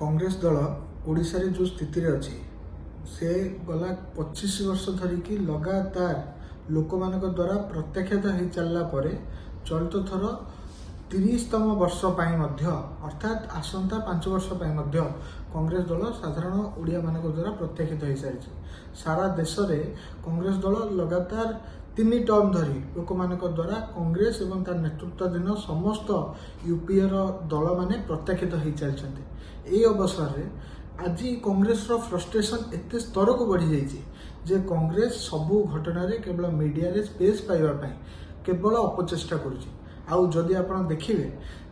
କଂଗ୍ରେସ ଦଳ ଓଡ଼ିଶାରେ ଯେଉଁ ସ୍ଥିତିରେ ଅଛି, ସେ ଗଲା 25 ବର୍ଷ ଧରିକି ଲଗାତାର ଲୋକମାନଙ୍କ ଦ୍ୱାରା ପ୍ରତ୍ୟାଖ୍ୟାତ ହେଇ ଚାଲିଲା ପରେ ଚଳିତ ଥର 30ତମ ବର୍ଷ ପାଇଁ ମଧ୍ୟ, ଅର୍ଥାତ୍ ଆସନ୍ତା 5 ବର୍ଷ ପାଇଁ ମଧ୍ୟ କଂଗ୍ରେସ ଦଳ ସାଧାରଣ ଓଡ଼ିଆମାନଙ୍କ ଦ୍ୱାରା ପ୍ରତ୍ୟାଖ୍ୟାତ ହୋଇସାରିଛି। ସାରା ଦେଶରେ କଂଗ୍ରେସ ଦଳ ଲଗାତାର 3 ଟର୍ମ ଧରି ଲୋକମାନଙ୍କ ଦ୍ୱାରା କଂଗ୍ରେସ ଏବଂ ତାର ନେତୃତ୍ୱାଧୀନ ସମସ୍ତ ୟୁପିଏର ଦଳମାନେ ପ୍ରତ୍ୟାଖ୍ୟାତ ହେଇ ଚାଲିଛନ୍ତି। ଏହି ଅବସରରେ ଆଜି କଂଗ୍ରେସର ଫ୍ରଷ୍ଟ୍ରେସନ୍ ଏତେ ସ୍ତରକୁ ବଢ଼ିଯାଇଛି ଯେ କଂଗ୍ରେସ ସବୁ ଘଟଣାରେ କେବଳ ମିଡ଼ିଆରେ ସ୍ପେସ୍ ପାଇବା ପାଇଁ କେବଳ ଅପଚେଷ୍ଟା କରୁଛି। ଆଉ ଯଦି ଆପଣ ଦେଖିବେ,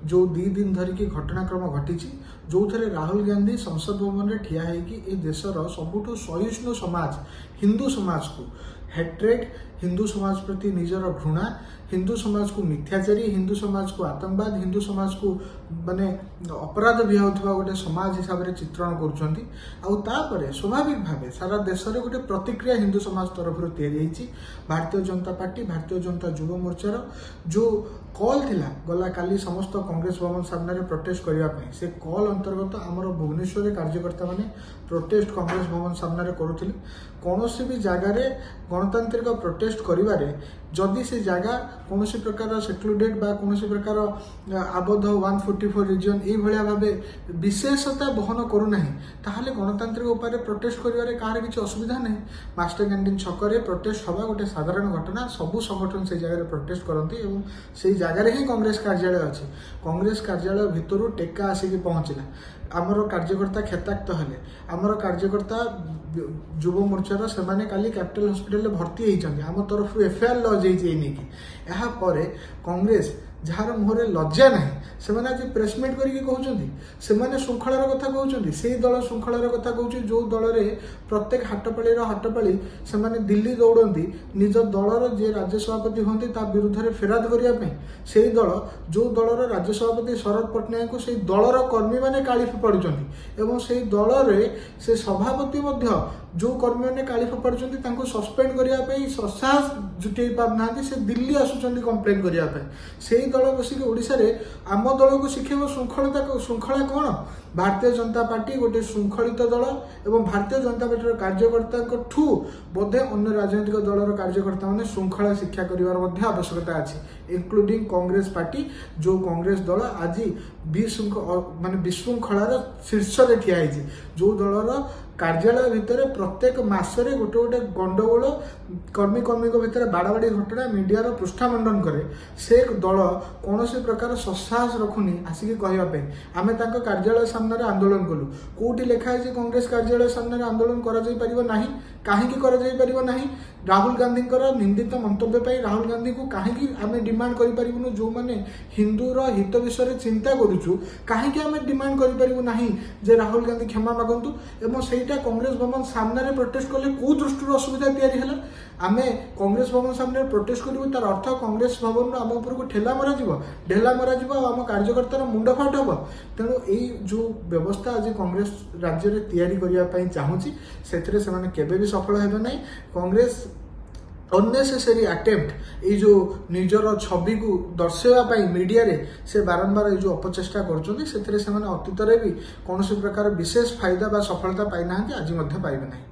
ଯେଉଁ 2 ଦିନ ଧରିକି ଘଟଣାକ୍ରମ ଘଟିଛି, ଯେଉଁଥିରେ ରାହୁଲ ଗାନ୍ଧୀ ସଂସଦ ଭବନରେ ଠିଆ ହେଇକି ଏ ଦେଶର ସବୁଠୁ ସହିଷ୍ଣୁ ସମାଜ ହିନ୍ଦୁ ସମାଜକୁ ହେଟ୍ରେଡ୍, ହିନ୍ଦୁ ସମାଜ ପ୍ରତି ନିଜର ଘୃଣା, ହିନ୍ଦୁ ସମାଜକୁ ମିଥ୍ୟାଚାରୀ, ହିନ୍ଦୁ ସମାଜକୁ ଆତଙ୍କବାଦ, ହିନ୍ଦୁ ସମାଜକୁ ମାନେ ଅପରାଧ ବିହାଉଥିବା ଗୋଟେ ସମାଜ ହିସାବରେ ଚିତ୍ରଣ କରୁଛନ୍ତି। ଆଉ ତାପରେ ସ୍ୱାଭାବିକ ଭାବେ ସାରା ଦେଶରେ ଗୋଟେ ପ୍ରତିକ୍ରିୟା ହିନ୍ଦୁ ସମାଜ ତରଫରୁ ତିଆରି ହେଇଛି। ଭାରତୀୟ ଜନତା ପାର୍ଟି, ଭାରତୀୟ ଜନତା ଯୁବ ମୋର୍ଚ୍ଚାର ଯେଉଁ କଲ୍ ଥିଲା ଗଲା କାଲି ସମସ୍ତ କଂଗ୍ରେସ ଭବନ ସାମ୍ନାରେ ପ୍ରୋଟେଷ୍ଟ କରିବା ପାଇଁ, ସେ କଲ୍ ଅନ୍ତର୍ଗତ ଆମର ଭୁବନେଶ୍ୱରରେ କାର୍ଯ୍ୟକର୍ତ୍ତାମାନେ ପ୍ରୋଟେଷ୍ଟ କଂଗ୍ରେସ ଭବନ ସାମ୍ନାରେ କରୁଥିଲେ। କୌଣସି ବି ଜାଗାରେ ଗଣତାନ୍ତ୍ରିକ ପ୍ରୋଟେଷ୍ଟ କରିବାରେ ଯଦି ସେ ଜାଗା କୌଣସି ପ୍ରକାର ସେକ୍ଲୁଡେଡ୍ ବା କୌଣସି ପ୍ରକାର ଆବଦ୍ଧ 144 ରିଜିଅନ୍ ଏଇଭଳିଆ ଭାବେ ବିଶେଷତା ବହନ କରୁନାହିଁ, ତାହେଲେ ଗଣତାନ୍ତ୍ରିକ ଉପାୟରେ ପ୍ରୋଟେଷ୍ଟ କରିବାରେ କାହାର କିଛି ଅସୁବିଧା ନାହିଁ। ମାଷ୍ଟର କ୍ୟାଣ୍ଟିନ୍ ଛକରେ ପ୍ରୋଟେଷ୍ଟ ହେବା ଗୋଟେ ସାଧାରଣ ଘଟଣା। ସବୁ ସଂଗଠନ ସେଇ ଜାଗାରେ ପ୍ରୋଟେଷ୍ଟ କରନ୍ତି ଏବଂ ସେଇ ଜାଗାରେ ହିଁ କଂଗ୍ରେସ କାର୍ଯ୍ୟାଳୟ ଅଛି। କଂଗ୍ରେସ କାର୍ଯ୍ୟାଳୟ ଭିତରୁ ଟେକା ଆସିକି ପହଞ୍ଚିଲା, ଆମର କାର୍ଯ୍ୟକର୍ତ୍ତା କ୍ଷତାକ୍ତ ହେଲେ। ଆମର କାର୍ଯ୍ୟକର୍ତ୍ତା ଯୁବ ମୋର୍ଚ୍ଚାର ସେମାନେ କାଲି କ୍ୟାପିଟାଲ ହସ୍ପିଟାଲରେ ଭର୍ତ୍ତି ହେଇଛନ୍ତି। ଆମ ତରଫରୁ ଏଫଆଇଆର ଲଜ୍ ହେଇଛି ଏଇ ନେଇକି। ଏହାପରେ କଂଗ୍ରେସ, ଯାହାର ମୁହଁରେ ଲଜ୍ଜା ନାହିଁ, ସେମାନେ ଆଜି ପ୍ରେସମିଟ୍ କରିକି କହୁଛନ୍ତି ସେମାନେ ଶୃଙ୍ଖଳାର କଥା କହୁଛନ୍ତି। ସେଇ ଦଳ ଶୃଙ୍ଖଳାର କଥା କହୁଛି ଯେଉଁ ଦଳରେ ପ୍ରତ୍ୟେକ ହାଟପାଳିର ହାଟପାଳି ସେମାନେ ଦିଲ୍ଲୀ ଦୌଡ଼ନ୍ତି ନିଜ ଦଳର ଯିଏ ରାଜ୍ୟ ସଭାପତି ହୁଅନ୍ତି ତା ବିରୁଦ୍ଧରେ ଫେରାଦ କରିବା ପାଇଁ। ସେଇ ଦଳ, ଯେଉଁ ଦଳର ରାଜ୍ୟ ସଭାପତି ଶରଦ ପଟ୍ଟନାୟକଙ୍କୁ ସେଇ ଦଳର କର୍ମୀମାନେ କାଳି ଫୋପାଡ଼ୁଛନ୍ତି ଏବଂ ସେଇ ଦଳରେ ସେ ସଭାପତି ମଧ୍ୟ ଯେଉଁ କର୍ମୀମାନେ କାଳି ଫୋପାଡ଼ୁଛନ୍ତି ତାଙ୍କୁ ସସ୍ପେଣ୍ଡ କରିବା ପାଇଁ ସସାହସ ଜୁଟେଇ ପାରୁନାହାନ୍ତି, ସେ ଦିଲ୍ଲୀ ଆସୁଛନ୍ତି କମ୍ପ୍ଲେନ୍ କରିବା ପାଇଁ। ସେଇ ଦଳ ବସିକି ଓଡ଼ିଶାରେ ଆମ ଦଳକୁ ଶିଖେଇବ ଶୃଙ୍ଖଳତା, ଶୃଙ୍ଖଳା କ'ଣ? ଭାରତୀୟ ଜନତା ପାର୍ଟି ଗୋଟେ ଶୃଙ୍ଖଳିତ ଦଳ ଏବଂ ଭାରତୀୟ ଜନତା ପାର୍ଟିର କାର୍ଯ୍ୟକର୍ତ୍ତାଙ୍କଠୁ ବୋଧେ ଅନ୍ୟ ରାଜନୈତିକ ଦଳର କାର୍ଯ୍ୟକର୍ତ୍ତାମାନେ ଶୃଙ୍ଖଳା ଶିକ୍ଷା କରିବାର ମଧ୍ୟ ଆବଶ୍ୟକତା ଅଛି, ଇନକ୍ଲୁଡିଂ କଂଗ୍ରେସ ପାର୍ଟି। ଯେଉଁ କଂଗ୍ରେସ ଦଳ ଆଜି ମାନେ ବିଶୃଙ୍ଖଳାର ଶୀର୍ଷରେ ଠିଆ ହେଇଛି, ଯେଉଁ ଦଳର କାର୍ଯ୍ୟାଳୟ ଭିତରେ ପ୍ରତ୍ୟେକ ମାସରେ ଗୋଟେ ଗୋଟେ ଗଣ୍ଡଗୋଳ, କର୍ମୀ କର୍ମୀଙ୍କ ଭିତରେ ବାଡ଼ାବାଡ଼ି ଘଟଣା ମିଡ଼ିଆର ପୃଷ୍ଠା ମଣ୍ଡନ କରେ, ସେ ଦଳ କୌଣସି ପ୍ରକାର ସତ୍ସାହସ ରଖୁନି ଆସିକି କହିବା ପାଇଁ ଆମେ ତାଙ୍କ କାର୍ଯ୍ୟାଳୟ ସାମ୍ନାରେ ଆନ୍ଦୋଳନ କଲୁ। କୋଉଠି ଲେଖା ହେଇଛି କଂଗ୍ରେସ କାର୍ଯ୍ୟାଳୟ ସାମ୍ନାରେ ଆନ୍ଦୋଳନ କରାଯାଇ ପାରିବ ନାହିଁ? କାହିଁକି କରାଯାଇ ପାରିବ ନାହିଁ? ରାହୁଲ ଗାନ୍ଧୀଙ୍କର ନିନ୍ଦିତ ମନ୍ତବ୍ୟ ପାଇଁ ରାହୁଲ ଗାନ୍ଧୀଙ୍କୁ କାହିଁକି ଆମେ ଡିମାଣ୍ଡ କରିପାରିବୁନୁ? ଯେଉଁମାନେ ହିନ୍ଦୁର ହିତ ବିଷୟରେ ଚିନ୍ତା କରୁଛୁ, କାହିଁକି ଆମେ ଡିମାଣ୍ଡ କରିପାରିବୁ ନାହିଁ ଯେ ରାହୁଲ ଗାନ୍ଧୀ କ୍ଷମା ମାଗନ୍ତୁ? ଏବଂ ସେଇଟା କଂଗ୍ରେସ ଭବନ ସାମ୍ନାରେ ପ୍ରୋଟେଷ୍ଟ କଲେ କୋଉ ଦୃଷ୍ଟିରୁ ଅସୁବିଧା ତିଆରି ହେଲା? ଆମେ କଂଗ୍ରେସ ଭବନ ସାମ୍ନାରେ ପ୍ରୋଟେଷ୍ଟ କରିବୁ, ତାର ଅର୍ଥ କଂଗ୍ରେସ ଭବନରୁ ଆମ ଉପରକୁ ଠେଲା ମରାଯିବ, ଢେଲା ମରାଯିବ ଆଉ ଆମ କାର୍ଯ୍ୟକର୍ତ୍ତାର ମୁଣ୍ଡଫାଟ ହେବ। ତେଣୁ ଏଇ ଯେଉଁ ବ୍ୟବସ୍ଥା ଆଜି କଂଗ୍ରେସ ରାଜ୍ୟରେ ତିଆରି କରିବା ପାଇଁ ଚାହୁଁଛି, ସେଥିରେ ସେମାନେ କେବେ ବି ସଫଳ ହେବେ ନାହିଁ। କଂଗ୍ରେସ ଅନ୍ନେସେସରି ଆଟେମ୍ପ୍ଟ, ଏଇ ଯେଉଁ ନିଜର ଛବିକୁ ଦର୍ଶାଇବା ପାଇଁ ମିଡ଼ିଆରେ ସେ ବାରମ୍ବାର ଏଇ ଯେଉଁ ଅପଚେଷ୍ଟା କରୁଛନ୍ତି, ସେଥିରେ ସେମାନେ ଅତୀତରେ ବି କୌଣସି ପ୍ରକାର ବିଶେଷ ଫାଇଦା ବା ସଫଳତା ପାଇନାହାନ୍ତି, ଆଜି ମଧ୍ୟ ପାଇବେ ନାହିଁ।